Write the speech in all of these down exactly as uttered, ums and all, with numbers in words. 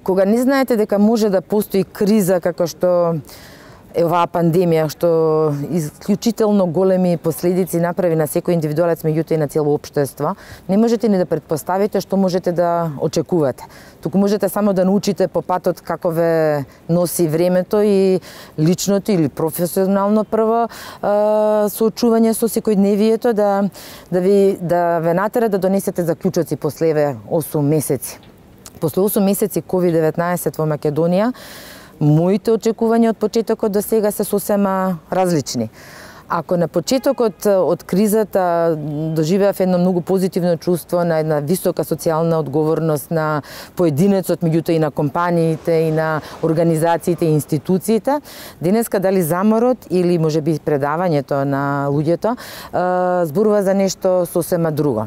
Кога не знаете дека може да постои криза како што е оваа пандемија, што исклучително големи последици направи на секој индивидуалец, меѓутоа и на цело општество, не можете ни да претпоставите што можете да очекувате. Туку можете само да научите по патот како ве носи времето и личното или професионално прво соочување со секојдневието да да ви да ве натера да донесете заклучоци после еве осум месеци. После осум месеци ковид деветнаесет во Македонија, моите очекувања од почетокот до сега се сосема различни. Ако на почетокот од кризата доживеав едно многу позитивно чувство на една висока социјална одговорност на поединецот, меѓутоа и на компаниите, и на организациите и институциите, денеска дали заморот или можеби предавањето на луѓето зборува за нешто сосема друго.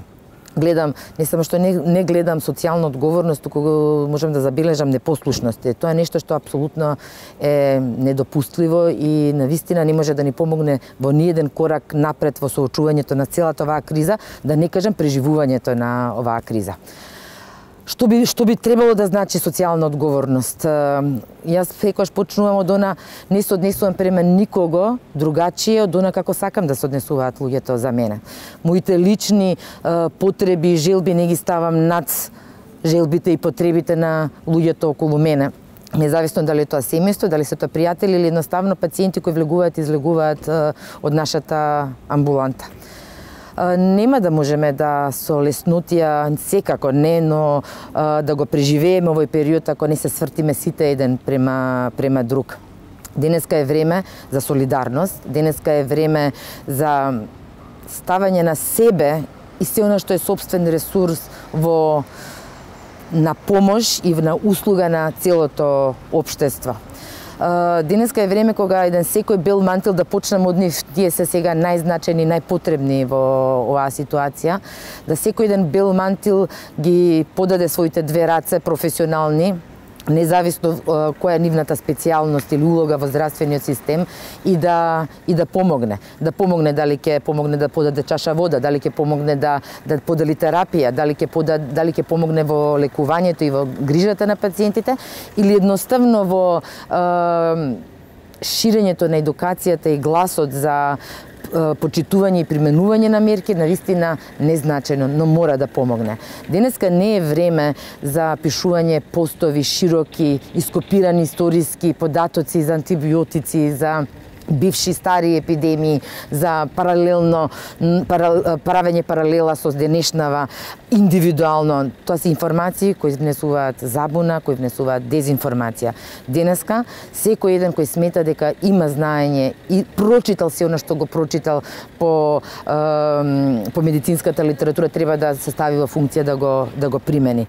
Гледам, не само што не, не гледам социјална одговорност, туку можам да забележам непослушност. Тоа е нешто што апсолутно е недопустливо и навистина не може да ни помогне во ниеден корак напред во соочувањето на целата оваа криза, да не кажам преживувањето на оваа криза. Што би, што би требало да значи социјална одговорност? Јас секогаш почнувам од она, не се однесувам према никого другачие од она како сакам да се однесуваат луѓето за мене. Моите лични потреби и желби не ги ставам над желбите и потребите на луѓето околу мене. Независно дали е тоа семејство, дали се тоа пријатели или едноставно пациенти кои влегуваат и излегуваат од нашата амбуланта. Нема да можеме да со леснотија, секако не, но да го преживееме овој период ако не се свртиме сите еден према, према друг. Денеска е време за солидарност, денеска е време за ставање на себе и се она што е собствен ресурс во на помош и на услуга на целото општество. Денеска е време кога еден секој бел мантил да почнеме од нив, тие се сега најзначајни, најпотребни во оваа ситуација, да секој еден бел мантил ги подаде своите две раце професионални, независно која е нивната специјалност или улога во здравствениот систем и да и да помогне, да помогне дали ќе помогне да подаде чаша вода, дали ќе помогне да да подели терапија, дали ќе подаде, дали ќе помогне во лекувањето и во грижата на пациентите или едноставно во е, ширењето на едукацијата и гласот за почитување и применување на мерки навистина незначајно, но мора да помогне. Денеска не е време за пишување постови широки, ископирани историски податоци за антибиотици, за бивши стари епидемии, за паралелно пара, правење паралела со денешнава индивидуално. Тоа се информации кои внесуваат забуна, кои внесуваат дезинформација. Денеска секој еден кој смета дека има знаење и прочитал се она што го прочитал по е, по медицинската литература треба да се стави во функција да го да го примени.